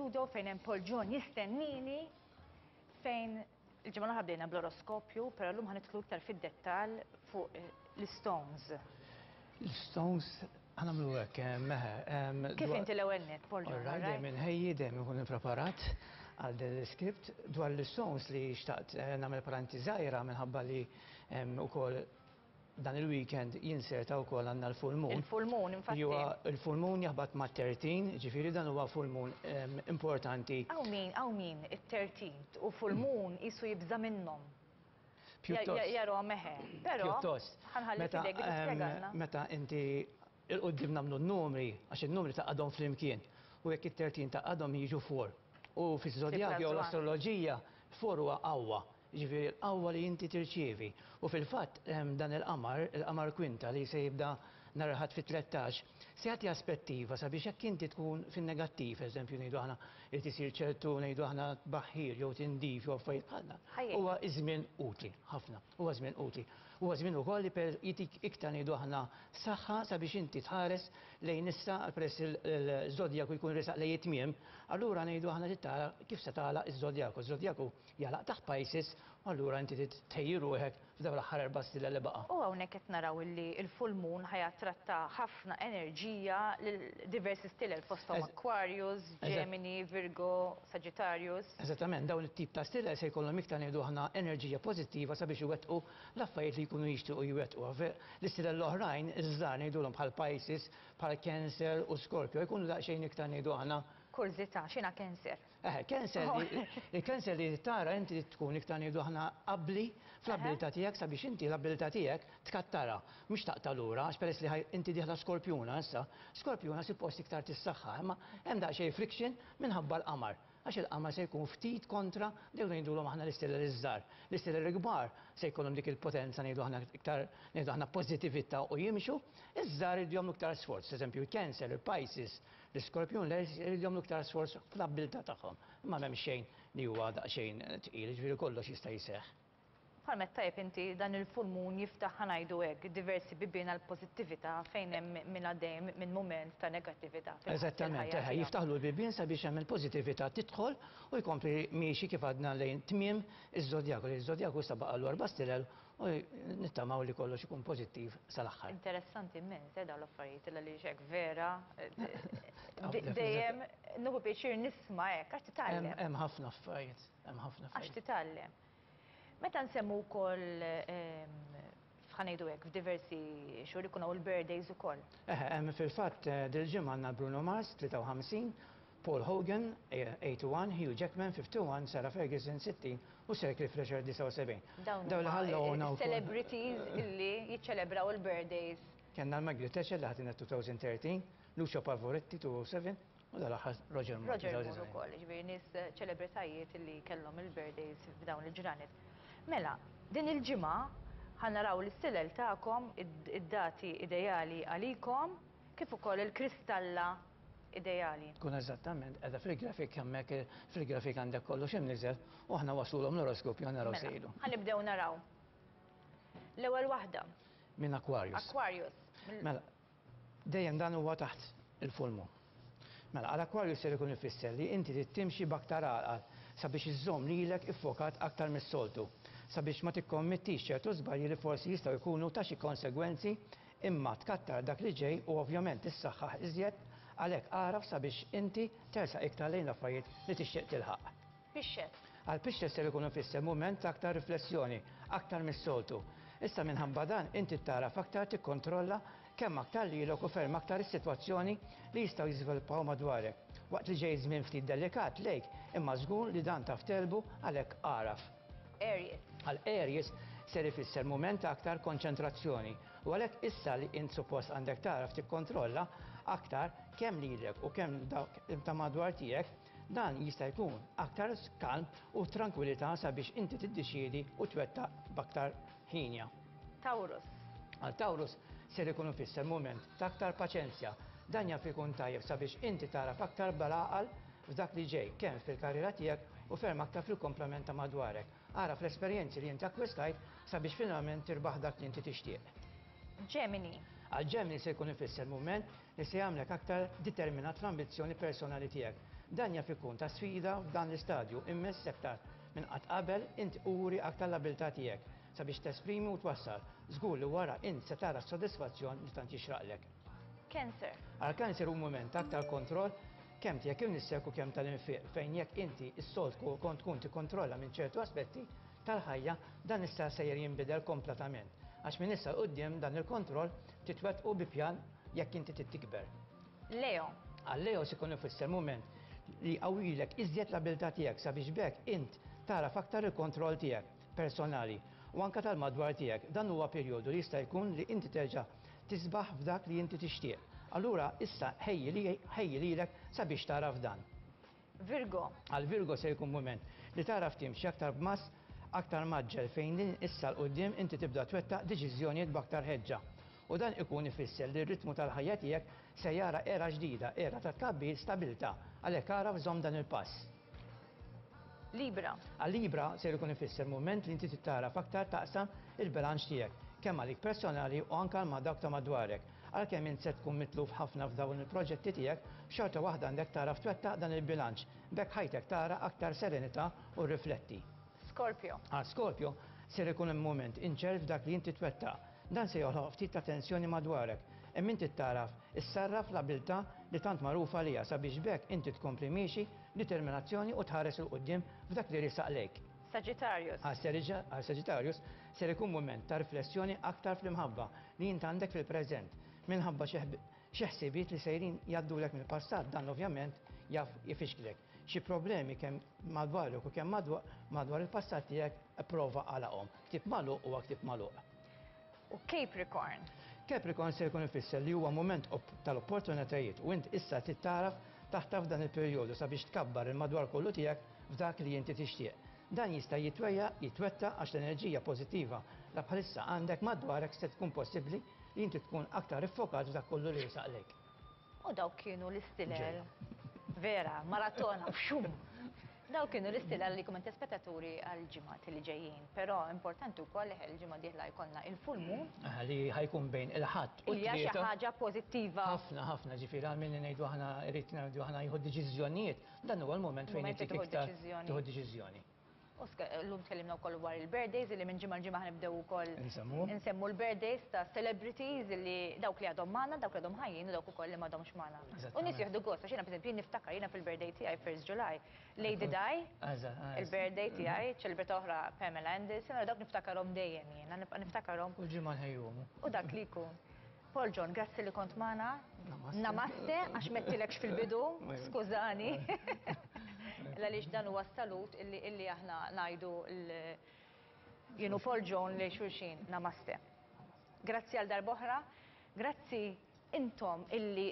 fl-istudio fejn hemm Paul John jistennini fejn il-ġimgħa l-oħra bdejna bl-oroskopju, però llum ħa nidħlu iktar fid-dettall fuq eh, l-stones. L-stones ħa nagħmlu hekk, eh, meħe. Kif inti l-ewwel net, Paul John? Alright, dejjem inħejji, dejjem inkun ippreparat għal din l-iskript dwar l-stones li xtaqt eh, nagħmel paranti żgħira minħabba li ukoll dan il-weekend jinserta wkoll għandna l-full moon. Il-full moon, infatti. Huwa il-full moon jaħbat ma' 13, ġifieri dan huwa full moon importanti. Hawn min, hawn min, it-13 u full moon qisu jibża' minnhom. Pjuttost. Jarahom eħe. Però Pjuttost. ħanħalli f'idejk biex tispjegalna. Meta inti il-qudiem nagħmlu n-numri, għax in-numri taqgħadhom flimkien, u jekk it-13 taqgħadhom jiġu 4. U fiż-żodjak jew l-astroloġija, 4 huwa qawwa. Jiġifieri l-qawwa li inti tirċievi. U fil-fatt dan il-qamar, il-qamar kwinta li se jibda nhar il-Ħadd fit-13, se jagħti aspettiva sabiex jekk inti tkun fin-negattiv, eżempju ngħidu aħna irid isir ċertu ngħidu aħna tbaħħir jew tindif jew affarijiet bħal dan. Huwa żmien utli ħafna. Huwa żmien utli. Huwa żmien ukoll li jtik iktar ngħidu aħna saħħa sabiex inti tħares lejn issa peress il-żodjaku jkun resaq lejn it-tmiem, allura ngħidu aħna trid tara kif se tagħlaq iż-żodjaku. Iż-żodjaku jagħlaq taħt Pisces u allura inti trid tħejji ruħek f'dawn l-aħħar erba' stilel li baqa'. U hawnhekk qed naraw illi l-full moon ħa jattratta ħafna enerġija lil diversi stilel fosthom Aquarius, Gemini, Virgo, Sagittarius. Eżattament, dawn it-tip ta' stilel se jkollhom iktar ngħidu aħna enerġija pożittiva sabiex iwettqu l-affarijiet li jkunu jixtiequ jwettqu. L-istilel l-oħrajn, iż-żgħar ngħidulhom bħal Pisces, bħal Cancer u Scorpio jkunu daqsxejn iktar ngħidu aħna. Kurżità, x'inha Cancer? Eħe, cancer li, il-cancer li tara inti tkun iktar ngħidu aħna abbli fl-abbiltà tiegħek sabiex inti l-abbiltà tiegħek tkattarha, mhux taqta' lura għax peress li inti dieħla skorpjuna issa, skorpjuna suppost iktar tissaħħaħ, imma hemm daqsxejn friction minħabba l-qamar, għax il-qamar se jkun ftit kontra dawk li ngħidulhom aħna l-istilel iż-żgħar. L-istilel il-kbar se jkollhom dik il-potenza ngħidu aħna iktar ngħidu aħna pożittività u jimxu, iż-żgħar iridu jagħmlu iktar sforz, eżempju il-Cancer, il-Pisces, L-iskorpjun le jridu jagħmlu iktar sforz fl-abbiltà tagħhom. Imma m'hemm xejn li huwa daqsxejn tqil, jiġifieri kollox jista' jseħħ. Bħalma għedt tajjeb inti, dan il-full moon jiftaħ, ħa ngħidu hekk, diversi bibien għall-pożittività fejn hemm min għaddej minn mument ta' negattività fil-ħajja tiegħu. Eżattament, eħe, jiftaħlu l-bibien sabiex hemm il-pożittività tidħol u jkompli miexi kif għadna lejn tmiem iż-żodjaku. Iż-żodjaku issa baqgħalu erba' stilel U nittamaw li kollox ikun pożittiv sal-aħħar. Interessanti immens, eh, dawn l-affarijiet, illa li hekk vera. Dejjem nieħu pjaċir nisma' hekk għax titgħallem. Hemm ħafna affarijiet, hemm ħafna affarijiet. Għax titgħallem. Meta nsemmu wkoll ehm, ħanejdu hekk f'diversi xhur ikun hawn il-birthdays ukoll. Eħe, hemm fil-fatt eh, dil-ġimgħa għandna Bruno Mars 53, Paul Hogan, 81, Hugh Jackman, 51, Sarah Ferguson, 60 u Sir Cliff Richard, 79. Dawn huma celebrities illi jiċċelebraw il-birthdays. Kellna l-Margaret Thatcher li ħatina 2013, Lucio Pavarotti 2007 u dal-aħħar Roger Moore. Roger Moore ukoll, jiġifieri nies ċelebritajiet illi kellhom il-birthdays f'dawn il-ġranet. Mela, din il-ġimgħa ħa naraw l-istilel tagħkom, id-dati ideali għalikom, kif ukoll il-kristalla ideali. Tkun eżattament qiegħda fil-grafik hemmhekk fil-grafik għandek kollox imniżel u aħna waslulhom l-oroskopju naraw se jgħidu. Mela, ħa nibdew naraw. L-ewwel waħda. Minn Aquarius. Aquarius. Mela, dejjem dan huwa taħt il-full moon. Mela, għal Aquarius ser ikun ifisser li inti trid timxi b'aktar għaqal sabiex iżżomm lilek iffokat aktar mis-soltu, sabiex ma tikkommettix ċertu żbalji li forsi jistgħu jkunu ta' xi konsegwenzi Imma tkattar dak li ġej u ovvjament tissaħħaħ iżjed, għalhekk agħraf sabiex inti tersaq iktar lejn l-affarijiet li tixtieq tilħaq. Pixxet. Għal pixxet ser ikun ifisser mument ta' aktar riflessjoni, aktar mis-soltu. Issa minħabba dan inti tagħraf aktar tikkontrolla kemm aktar lilek u ferm aktar is-sitwazzjoni li jistgħu jiżviluppaw madwarek. Waqt li ġej żmien ftit delikat lejk, imma żgur li dan taf tegħlbu għalhekk agħraf. Aries. Għal Aries ser ifisser mument ta' aktar konċentrazzjoni u għalhekk issa li int suppost għandek tagħraf tikkontrolla aktar kemm lilek u kemm dawk ta' madwar tiegħek, dan jista' jkun aktar kalm u trankwilità sabiex inti tiddeċiedi u twettaq b'aktar ħinja. Taurus. Għal Taurus ser ikun ifisser mument ta' aktar paċenzja. Dan jaf ikun tajjeb sabiex inti tagħraf aktar bl-għaqal f'dak li ġej, kemm fil-karriera tiegħek u ferm aktar fil-kumplament ta' madwarek. Agħraf l-esperjenzi li inti akkwistajt sabiex finalment tirbaħ dak li inti tixtieq. Gemini. Għal Gemini se jkun ifisser mument li se jagħmlek aktar determinat fl-ambizzjoni personali tiegħek. Dan jaf ikun ta' sfida f'dan l-istadju imma issa aktar minn qatt qabel int uri aktar l-abilità tiegħek sabiex tesprimi u twassal. Żgur li wara int se tara s-sodisfazzjon li tant jixraqlek. Cancer. Għal Cancer hu mument ta' aktar kontroll kemm tiegħek innifsek u kemm tal-infiq fejn jekk inti s-soltu kont tkun tikkontrolla minn ċertu aspetti tal-ħajja dan issa sejjer jinbidel kompletament għax minn issa 'l quddiem dan il-kontroll titwettqu bi pjan jekk inti trid tikber. Leo. Għal Leo se jkun ifisser mument li jqawwilek iżjed l-abilità tiegħek sabiex b'hekk int tagħraf aktar il-kontroll tiegħek personali u anke tal-madwar tiegħek. Dan huwa perjodu li jista' jkun li inti terġa' tisbaħ f'dak li inti tixtieq. Allura issa ħejji lilek sabiex tagħraf dan. Virgo. Għal Virgo se jkun mument li tagħraf timxi aktar b'mass aktar mgħaġġel fejn minn issa 'l quddiem inti tibda twettaq deċiżjonijiet b'aktar ħeġġa. U dan ikun ifisser li r-ritmu tal-ħajja tiegħek se jara era ġdida, era ta' tkabbir, stabilità. Għalhekk agħraf żomm dan il-pass. Libra. Għal Libra ser ikun ifisser mument li inti trid tagħraf aktar taqsam il-bilanċ tiegħek, kemm għalik personali u anke ma' dawk ta' madwarek. Għalkemm int se tkun mitluf ħafna f'dawn il-proġetti tiegħek, xorta waħda għandek tagħraf twettaq dan il-bilanċ. B'hekk ħajtek tara aktar serenità u rrifletti. Scorpio. Għal Scorpio ser ikun hemm mument inċert f'dak li inti twettaq. Dan se joħloq ftit ta' tensjoni madwarek. Imma inti tagħraf issarraf l-abilità li tant magħruf għaliha sabiex b'hekk inti tkompli miexi b'determinazzjoni u tħares 'il quddiem f'dak li riesaq lejk. Sagittarius. Għal Sagittarius ser ikun mument ta' riflessjoni aktar fl-imħabba li int għandek fil-preżent. Minħabba xi xi ħsibijiet li sejrin jgħaddulek mill-passat dan ovvjament jaf ifixklek. Xi problemi kemm madwarek u kemm madwar il-passat tiegħek ipprova agħlaqhom. Ktieb magħluq huwa ktieb magħluq. U Capricorn. Capricorn se jkun ifisser li huwa mument tal-opportunitajiet u int issa trid tagħraf taħtaf dan il-perjodu sabiex tkabbar il-madwar kollu tiegħek f'dak li inti tixtieq. Dan jista' jitwejjaq, jitwettaq għax l-enerġija pożittiva la bħalissa għandek madwarek se tkun possibbli li inti tkun aktar iffokat f'dak kollu li riesaq lejk. U dawk kienu l-istilel. Vera, maratona, fxum! Dawk kienu l-istilel li kumment spettaturi għal-ġimgħat li ġejjin. Però importanti wkoll li l-ġimgħa dieħla jkollna il-full moon. Li ħa jkun bejn il-Ħadd u Hija xi ħaġa pożittiva. Ħafna, ħafna, ġifieri għal min ngħidu aħna irid ngħidu aħna jieħu deċiżjonijiet, dan huwa l-mument fejn Mument li inti tieħu iktar deċiżjoni. tieħu deċiżjoni. U llum tkellimna wkoll dwar il-birthdays li minn ġimgħa l-ġimgħa ħanibdew ukoll Insemmu. insemmu l-birthdays ta' celebrities li dawk li għadhom magħna, dawk li għadhom ħajjin u dawk ukoll li m'għadhomx magħna. U nies jieħdu gost għax jiena pereżempju niftakar jiena fil-birthday tiegħi 1st July, Lady Di, il-birthday tiegħi, ċelebrita oħra Pamela Anderson, u dawk niftakarhom dejjem jiena, nibqa' niftakarhom Kull ġimgħa nħejjuhom. u dak li jkun. Paul John, grazzi li kont magħna. Namaste. Namaste, għax m'għedtilekx fil-bidu, skużani. Għaliex dan huwa salut illi aħna ngħidu jienu Paul John li xulxin. Namaste. Grazzi għal darb'oħra. Grazzi intom illi